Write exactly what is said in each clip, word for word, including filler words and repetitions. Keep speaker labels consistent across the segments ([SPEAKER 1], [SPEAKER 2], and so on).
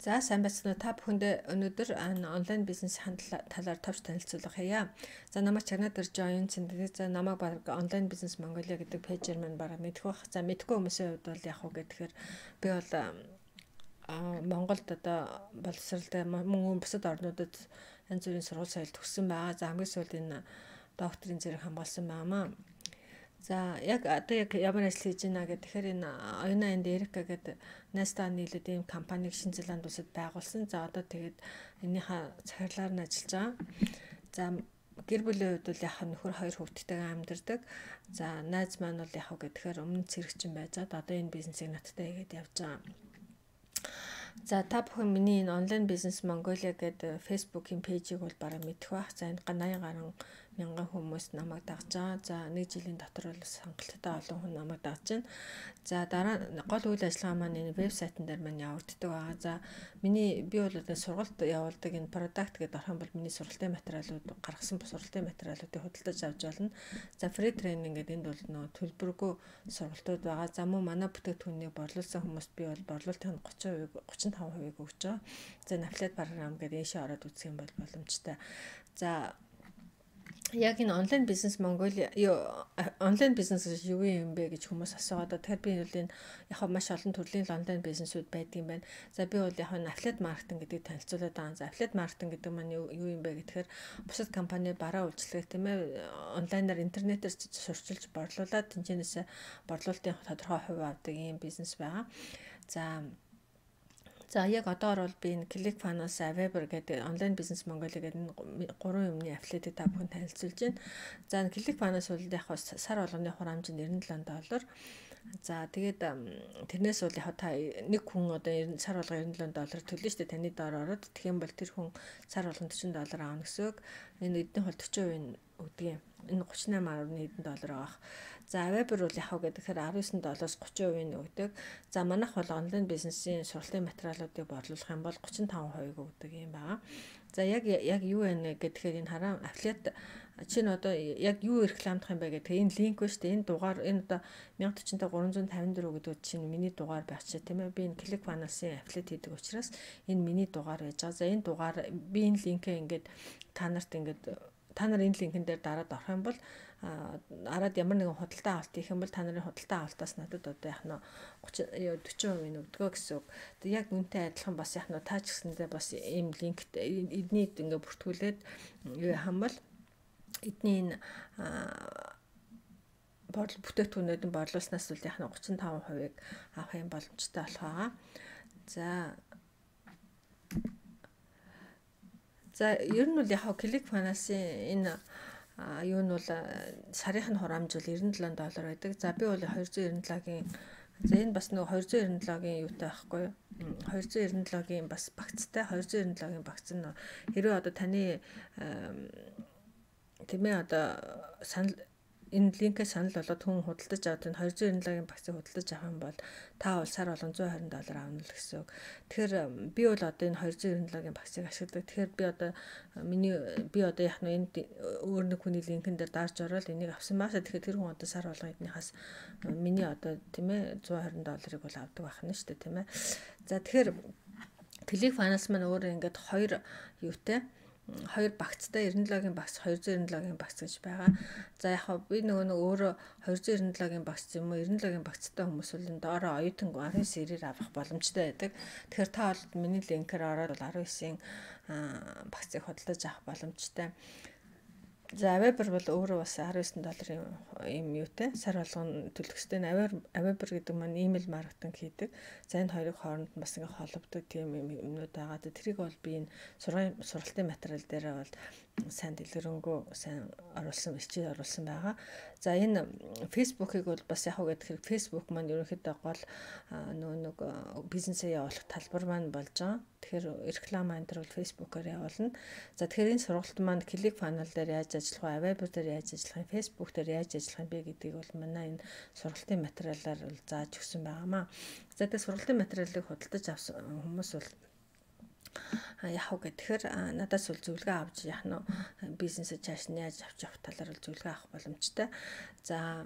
[SPEAKER 1] За сайн байцгаана уу та бүхэндээ өнөөдөр онлайн бизнес талаар товч танилцуулах хийя. За намайг чагнаад ирж байгаа юм цэндээ за намайг баг онлайн бизнес Монголиа гэдэг пэйжээр маань баг мэдэх бах. За мэдхгүй хүмүүсийн хувьд бол яг уу гэхээр би бол Монголд одоо боловсралтай мөн бусад орнуудад янз бүрийн сургууль соёл төгссөн байгаа. За хамгийн сүүлд энэ докторийн зэрэг хамгаалсан байнамаа. За яг одоо яг ямар ажил хийж байна гэхээр энэ оюуна энд Эрика гэдэг найстаа нийлээд ийм компаниг Шинэ Зеланд улсад байгуулсан. За одоо тэгээд энийхээ захирлаар нь ажиллаж байгаа. За гэр бүлийн хувьд бол яг нөхөр хоёр хүүхэдтэйгээ амьдардаг. За найз маань бол яг гэхээр өмнө цэрэгчин байж байгаа. Одоо энэ бизнесийг надтай хийгээд явж байгаа. За та бүхэн миний энэ онлайн бизнес Mongolia гэдэг Facebook-ийн пэйжийг бол бараг мэдэх бах. За энд ганаян гарan мянган хүмүүс намайг дагж байгаа. За нэг жилийн дотор бол хангалттай олон хүн намайг дагж байна. За дараа гол үйл ажиллагаа маань энэ вебсайтн дээр маань явагддаг байгаа. За миний би бол одоо сургалт явуулдаг энэ product гэдэг орхон бол миний сургалтын материалууд гаргасан сургалтын материалуудыг худалдаж авч болно. За free training гэдэг энд бол нөө төлбөргүй сургалтууд байгаа. За мөн манай бүтээгдэхүүнийг борлуулсан хүмүүст би бол борлуулалтын тридцать хувийг тридцать и пять хувийг өгч байгаа. За affiliate програм гэдэг ийшээ ороод үзэх юм бол боломжтой. За яг энэ онлайн бизнес Mongolia онлайн бизнес юу юм бэ гэж хүмүүс асуугаад тэгэхээр би бол энэ яг маш олон төрлийн онлайн бизнесүүд байдаг юм байна. За би бол яг энэ affiliate marketing гэдгийг танилцуулаад байгаа. За affiliate marketing гэдэг маань юу юм бэ гэхээр бусад компани бараа үйлчлэг тийм ээ онлайнаар интернетээр сурчилж борлуулад тэнцэнээс борлуулалтын тодорхой хувь авдаг ийм бизнес байгаа. За За яг одоор бол би энэ ClickFunnels, Aweber гэдэг онлайн бизнес Mongolia гэдэг гурван юмны affiliate та бүхэн танилцуулж байна. За ClickFunnels бол яг сар болгоны хурамж нь девяносто доллар доллар. За тэгээд тэрнээс бол яг та нэг хүн одоо сар болго девяносто доллар төлнө шүү дээ таны доор ороод тэгэх юм бол тэр хүн сар болгон quaranta доллар аавна гэсэн үг. Энэ эдний хол forty percent өгдөг юм. Энэ thirty-eight point one доллар авах. За Aweber бол яг гэхээр nineteen доллараас thirty percent өгдөг. За манайх бол онлайн бизнесийн сургалтын материалуудыг борлуулах юм бол thirty-five percent өгдөг юм байна. За яг яг юу вэ гэхээр энэ хараа affiliate чинь одоо яг юу рекламдах юм бэ гэдэг энэ линк ба шүү дээ. Энэ дугаар энэ одоо one thousand forty-тhree fifty-four гэдэг чинь миний дугаар байх чаа тийм ээ. Би энэ ClickFunnels-ийн affiliate хийдэг учраас энэ миний дугаар байж байгаа. За энэ дугаар би энэ линкээ ингээд та нарт ингээд та нар энэ линкэн дээр дараад орох юм бол араад ямар нэгэн худалдаа авалт хийх юм бол та нарын худалдаа авалтаас надад одоо яг нь forty percent өгдөгөө гэсэн үг. Яг үнтэй адилхан бас яг нь таа ч гэсэндээ бас ийм линкт эдний ингээ бүртгүүлээд юу хам бол эдний энэ бодол бүтээгдэхүүнүүдийн борлуулснаас бол яг нь thirty-five percent авах юм боломжтой болох байгаа. За За ер нь бол яг ClickFunnels-ийн энэ юу нь бол сарын хураамж бол ninety-seven доллар байдаг. За би бол two ninety-seven-ийн за энэ бас нөгөө two ninety-seven-ийн юутай байхгүй юу? two ninety-seven-ийн бас багцтай two ninety-seven-ийн багц нь хэрвээ одоо таны тийм ээ одоо санал энэ линкээ санал болоод хүн худалдаж аваад энэ two ninety-seven-ийн багцыг худалдаж авах юм бол та бол сар болгон one hundred twenty доллар авна л гэсэн үг. Тэгэхээр би бол одоо энэ two ninety-seven-ийн багцыг ашигладаг. Тэгэхээр би одоо миний би одоо яг нь энэ өөр нэг хүний линкэн дээр дарж ороод энийг авсан маашаа тэгэхээр тэр хүн одоо сар болгон эднийхээс миний одоо тийм ээ one hundred twenty долларыг бол авдаг байх нь шүү дээ тийм ээ. За тэгэхээр ClickFunnels маань өөр ингээд хоёр юутай хоёр багцтай ninety-seven-ийн багц two ninety-seven-ийн багц гэж байгаа. За яг би нөгөө нэг өөрөө two ninety-seven-ийн багц юм уу ninety-seven-ийн багцтай хүмүүс бол энэ доороо оюутан nineteen сэрээр авах боломжтой байдаг. Тэгэхээр та бол миний линкээр ороод nineteen-ийн багцыг худалдаж авах боломжтой. За Aweber бол өөрөө бас nineteen долларын юм юутэй сар болгон төлөх ёстой. Aweber гэдэг маань email маркетинг хийдэг. За энэ хоёрын хооронд бас ингээ холбогддог тийм юмнууд байгаа. Тэрийг бол би энэ сургалтын материал дээр бол сайн дэлгэрэнгүй сайн оруулсан бичиж оруулсан байгаа. За энэ Facebook-ыг бол бас яг уу гэхээр Facebook маань ерөнхийдөө гол нөө нэг бизнесээ явуулах талбар маань болж байгаа. Тэгэхээр реклама энэ төр бол Facebook-оор явуулна. За тэгэхээр энэ сургалт маань ClickFunnels дээр яаж ажиллах вэ? Aweber дээр яаж ажиллах вэ? Facebook дээр яаж ажиллах вэ гэдгийг бол манай энэ сургалтын материалаар бол зааж өгсөн байгаамаа. За тэгээд сургалтын материалыг худалдаж авсан хүмүүс бол яг уу гэхээр надаас бол зөвлөгөө авч яг нь бизнесээ цааш нь яаж авч явах талаар бол зөвлөгөө авах боломжтой. За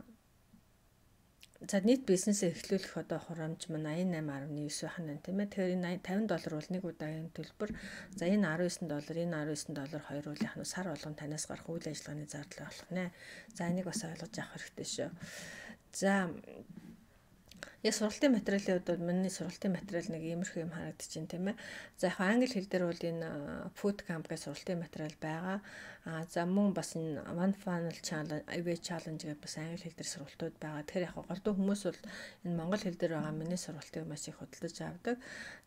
[SPEAKER 1] За нийт бизнесээ эхлүүлэх одоо хурамж маань аян найман гаруй девять байна тийм ээ. Тэгэхээр энэ тавин доллар бол нэг удаагийн төлбөр. За энэ дөрвөн девять доллар, энэ дөрвөн девять доллар хоёруул яах нь сар болгон танаас гарах үйл ажиллагааны зардал болох нэ. За энийг бас ойлгож авах хэрэгтэй шүү. За Я сургалтын материалын хувьд бол миний сургалтын материал нэг иймэрхүү юм харагдчихээн тийм ээ. За яг англи хэл дээр бол энэ Food Camp гэх сургалтын материал байгаа. А за мөн бас энэ One Funnel Challenge, I V Challenge гэх бас англи хэл дээр сургалтууд байгаа. Тэгэхээр яг голдуу хүмүүс бол энэ монгол хэл дээр байгаа миний сургалтыг маш их худалдаж авдаг.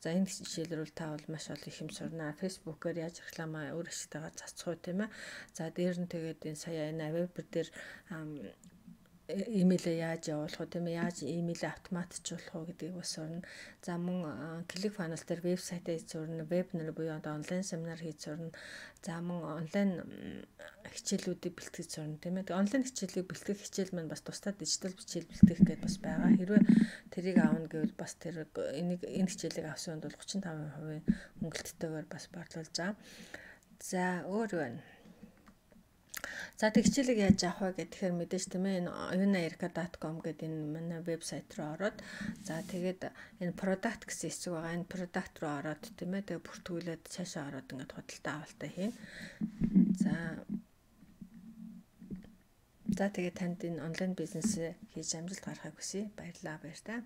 [SPEAKER 1] За энэ хичээлрүүл та бол маш олон их юм сурнаа. Facebook-оор яаж рекламаа өөр ашигтайгаар цацх уу тийм ээ. За дээр нь тэгээд энэ сая энэ веб дээр имэйлээ яаж явуулах вэ тийм ээ, яаж имэйлээ автоматжуулах вэ гэдгийг бас сурна. За мөн ClickFunnels дээр вебсайтаа хийж сурна, вебинар буюу одоо онлайн семинар хийж сурна. За мөн онлайн хичээлүүдийг бэлтгэж сурна тийм ээ. Онлайн хичээлийг бэлтгэх хичээл маань бас тусдаа дижитал хичээл бэлтгэх гэдээ бас байгаа. Хэрвээ тэрийг аавна гэвэл бас тэр энийг энэ хичээлийг авсан хүнд бол тридцать и пять процент хөнгөлөлттэйгээр бас борлуулж байгаа. За өөр байна. За тэг хичээлийг яаж авах вэ гэхээр мэдээж тийм ээ энэ unirka dot com гэдэг энэ манай вебсайт руу ороод за тэгээд энэ product гэсэн хэсэг байгаа. Энэ product руу ороод тийм ээ тэгээд бүртгүүлээд цаашаа ороод ингээд худалдаа авалтаа хийн. За За тэгээд танд энэ онлайн бизнес хийж амжилт гаргахыг хүсье. Баярлалаа баяр та.